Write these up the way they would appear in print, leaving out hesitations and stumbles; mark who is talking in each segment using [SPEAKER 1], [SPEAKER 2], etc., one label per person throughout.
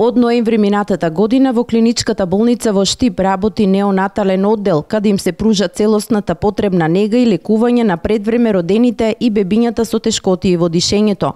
[SPEAKER 1] Од ноември минатата година во клиничката болница во Штип работи неонатален оддел, каде им се пружа целосната потребна нега и лекување на предвреме родените и бебињата со тешкотии во дишењето.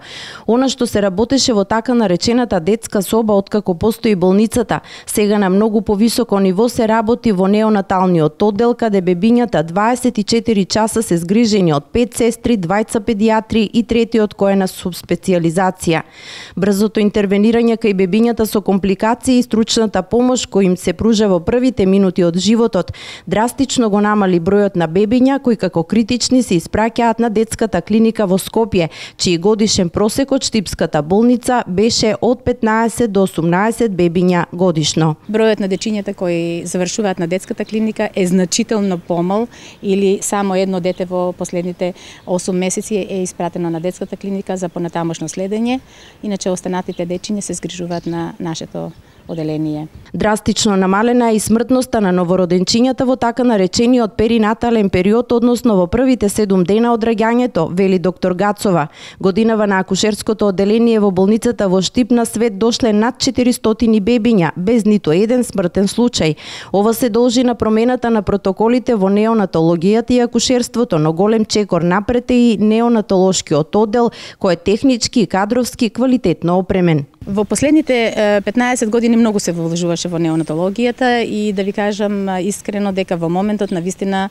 [SPEAKER 1] Она што се работеше во така наречената детска соба откако постои болницата, сега на многу повисоко ниво се работи во неонаталниот оддел, каде бебињата 24 часа се згрижени од 5 сестри, 2 педиатри и третиот кој е на субспецијализација. Брзото интервенирање кај бебињата со компликации и стручната помош кој им се пружа во првите минути од животот драстично го намали бројот на бебиња кои како критични се испраќаат на детската клиника во Скопје, чиј годишен просек од Штипската болница беше од 15 до 18 бебиња годишно.
[SPEAKER 2] Бројот на дечињата кои завршуваат на детската клиника е значително помал или само едно дете во последните 8 месеци е испратено на детската клиника за понатамошно следење, иначе останатите дечиња се згрижуваат на нашето оделение.
[SPEAKER 1] Драстично намалена е и смртноста на новороденчињата во така наречениот перинатален период, односно во првите 7 дена од раѓањето, вели доктор Гацова. Годинава на акушерското оделение во болницата во Штип на свет дошле над 400 бебиња, без ниту еден смртен случај. Ова се должи на промената на протоколите во неонатологијата и акушерството, но голем чекор напред е и неонатолошкиот оддел, кој е технички и кадровски квалитетно опремен.
[SPEAKER 2] Во последните 15 години многу се вложуваше во неонатологијата и да ви кажам искрено дека во моментот навистина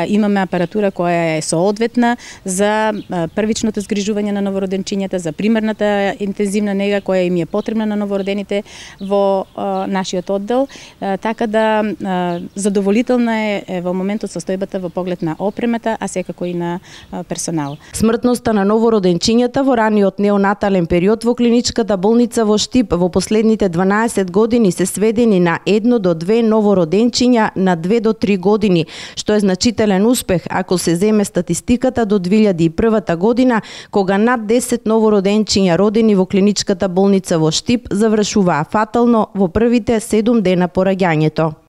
[SPEAKER 2] имаме апаратура која е соодветна за првичното згрижување на новороденчињата, за примерната интензивна нега која им е потребна на новородените во нашиот оддел, така да задоволителна е во моментот состојбата во поглед на опремата, а секако и на персонал.
[SPEAKER 1] Смртноста на новороденчињата во раниот неонатален период во клиничката болница во Штип во последните 12 години се сведени на 1 до 2 новороденчиња на 2 до 3 години, што е значителен успех ако се земе статистиката до 2001 година, кога над 10 новороденчиња родени во клиничката болница во Штип завршуваа фатално во првите 7 дена по раѓањето.